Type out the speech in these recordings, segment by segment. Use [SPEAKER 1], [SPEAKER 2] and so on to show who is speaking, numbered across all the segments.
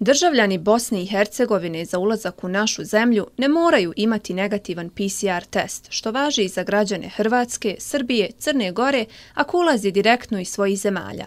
[SPEAKER 1] Državljani Bosne i Hercegovine za ulazak u našu zemlju ne moraju imati negativan PCR test, što važi i za građane Hrvatske, Srbije, Crne Gore, ako ulazi direktno iz svojih zemalja.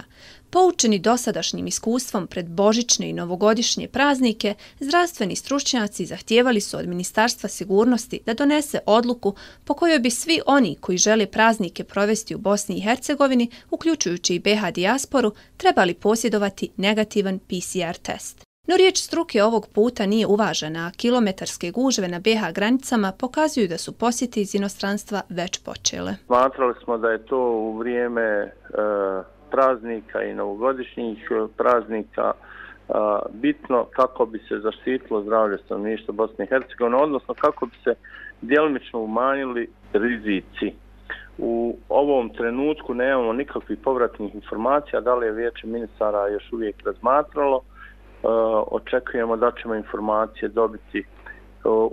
[SPEAKER 1] Poučeni dosadašnjim iskustvom pred božićne i novogodišnje praznike, zdravstveni stručnjaci zahtijevali su od Ministarstva sigurnosti da donese odluku po kojoj bi svi oni koji žele praznike provesti u Bosni i Hercegovini, uključujući i BiH dijasporu, trebali posjedovati negativan PCR test. No riječ struke ovog puta nije uvažena, a kilometarske gužve na BiH granicama pokazuju da su posjete iz inostranstva već počele.
[SPEAKER 2] Smatrali smo da je to u vrijeme praznika i novogodišnjih praznika bitno kako bi se zaštitilo zdravlje stanovništva Bosne i Hercegovine, odnosno kako bi se djelomično umanjili rizici. U ovom trenutku nemamo nikakvih povratnih informacija, da li je Vijeće ministara još uvijek razmatralo. Očekujemo da ćemo informacije dobiti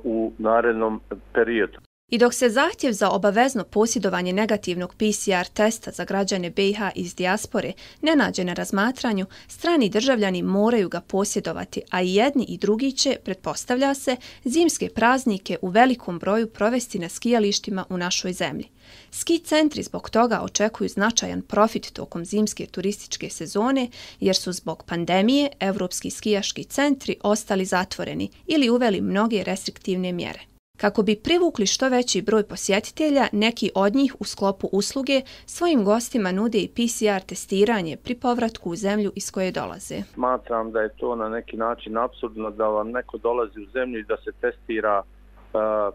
[SPEAKER 2] u narednom periodu.
[SPEAKER 1] I dok se zahtjev za obavezno posjedovanje negativnog PCR testa za građane BiH iz dijaspore ne nađe na razmatranju, strani državljani moraju ga posjedovati, a i jedni i drugi će, pretpostavlja se, zimske praznike u velikom broju provesti na skijalištima u našoj zemlji. Ski centri zbog toga očekuju značajan profit tokom zimske turističke sezone, jer su zbog pandemije evropski skijaški centri ostali zatvoreni ili uveli mnoge restriktivne mjere. Kako bi privukli što veći broj posjetitelja, neki od njih u sklopu usluge svojim gostima nude i PCR testiranje pri povratku u zemlju iz koje dolaze.
[SPEAKER 2] Smatram da je to na neki način apsurdno da vam neko dolazi u zemlju i da se testira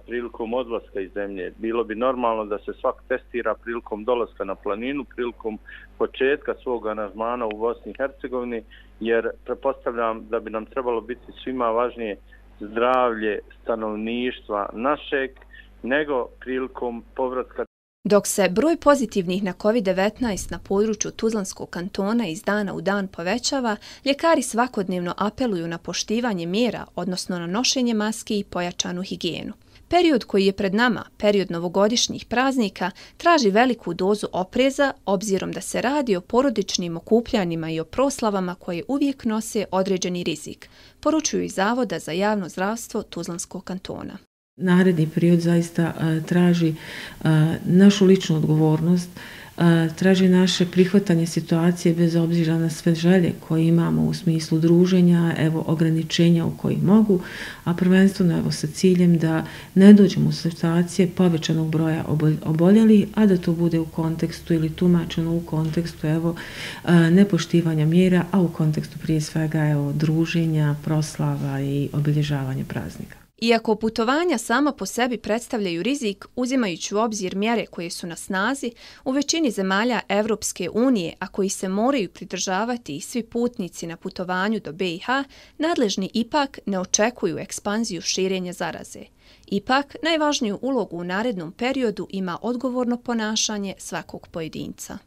[SPEAKER 2] prilikom odlaska iz zemlje. Bilo bi normalno da se svak testira prilikom dolaska na planinu, prilikom početka svog aranžmana u Bosni i Hercegovini, jer pretpostavljam da bi nam trebalo biti svima važnije zdravlje stanovništva našeg nego prilikom povratka.
[SPEAKER 1] Dok se broj pozitivnih na COVID-19 na području Tuzlanskog kantona iz dana u dan povećava, ljekari svakodnevno apeluju na poštivanje mjera, odnosno na nošenje maski i pojačanu higijenu. Period koji je pred nama, period novogodišnjih praznika, traži veliku dozu opreza, obzirom da se radi o porodičnim okupljanjima i o proslavama koje uvijek nose određeni rizik, poručuju iz Zavoda za javno zdravstvo Tuzlanskog kantona.
[SPEAKER 3] Naredni period zaista traži našu ličnu odgovornost, traži naše prihvatanje situacije bez obzira na sve želje koje imamo u smislu druženja, evo ograničenja u koji mogu, a prvenstveno evo sa ciljem da ne dođemo u situacije povećanog broja oboljelih, a da to bude u kontekstu ili tumačeno u kontekstu evo nepoštivanja mjera, a u kontekstu prije svega evo druženja, proslava i obilježavanja praznika.
[SPEAKER 1] Iako putovanja sama po sebi predstavljaju rizik, uzimajući u obzir mjere koje su na snazi, u većini zemalja Evropske unije, a koji se moraju pridržavati i svi putnici na putovanju do BiH, nadležni ipak ne očekuju ekspanziju širenja zaraze. Ipak, najvažniju ulogu u narednom periodu ima odgovorno ponašanje svakog pojedinca.